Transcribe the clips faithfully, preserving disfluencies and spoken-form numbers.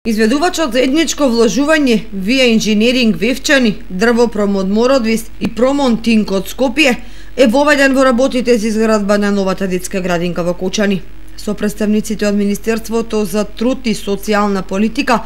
Изведувачот за етничко вложување Вија Инженеринг Вевчани, Дрвопром Мородвис и Промонтинг од Скопје е воведен во работите за изградба на новата детска градинка во Кочани. Со представниците од Министерството за труд и социјална политика,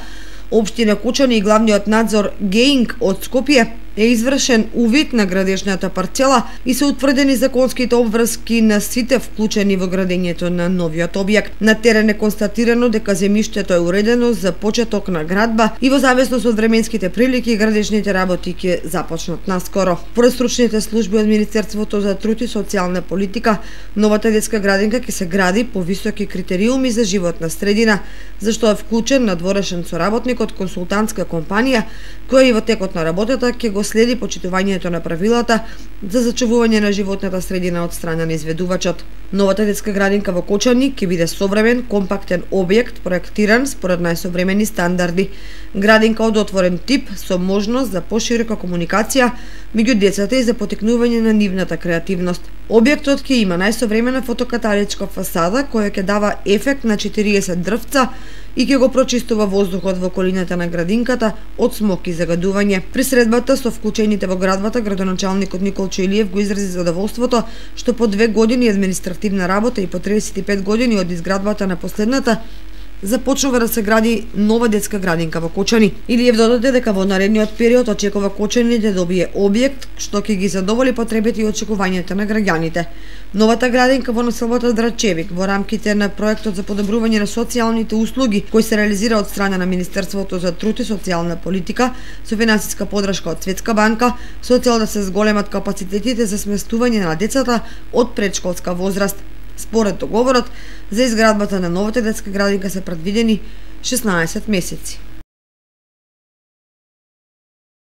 Општина Кочани и главниот надзор ГЕИНГ од Скопје е извршен увид на градежната парцела и се утврдени законските обврски на сите вклучени во градењето на новиот објект. На терен е констатирано дека земјиштето е уредено за почеток на градба и во зависност од временските прилики градежните работи ќе започнат наскоро. Според стручните служби од Министерството за труд и социјална политика, новата детска градинка ќе се гради по високи критериуми за животна средина, зашто е вклучен надворешен соработник од консултантска компанија која и во текот на работата ќе го следи почитувањето на правилата за зачувување на животната средина од страна на изведувачот. Новата детска градинка во Кочани ќе биде современ, компактен објект, проектиран според најсовремени стандарди. Градинка од отворен тип со можност за поширока комуникација меѓу децата и за потекнување на нивната креативност. Објектот ќе има најсовремена фотокаталичка фасада која ќе дава ефект на четириесет дрвца и ќе го прочистува воздухот во околината на градинката од смок и загадување. При средбата со вклучените во градбата, градоначалникот Николчо Илиев го изрази задоволството што по две години административна работа и по триесет и пет години од изградбата на последната започнува да се гради нова детска градинка во Кочани. Илиев додаде дека во наредниот период очекува Кочани да добие објект што ќе ги задоволи потребите и очекувањата на граѓаните. Новата градинка во населбата Драчевик во рамките на проектот за подобрување на социјалните услуги кој се реализира од страна на Министерството за труд и социјална политика со финансиска подршка од Светска банка со цел да се зголемат капацитетите за сместување на децата од предшколска возраст. Според договорот, за изградбата на новата детска градинка се предвидени шеснаесет месеци.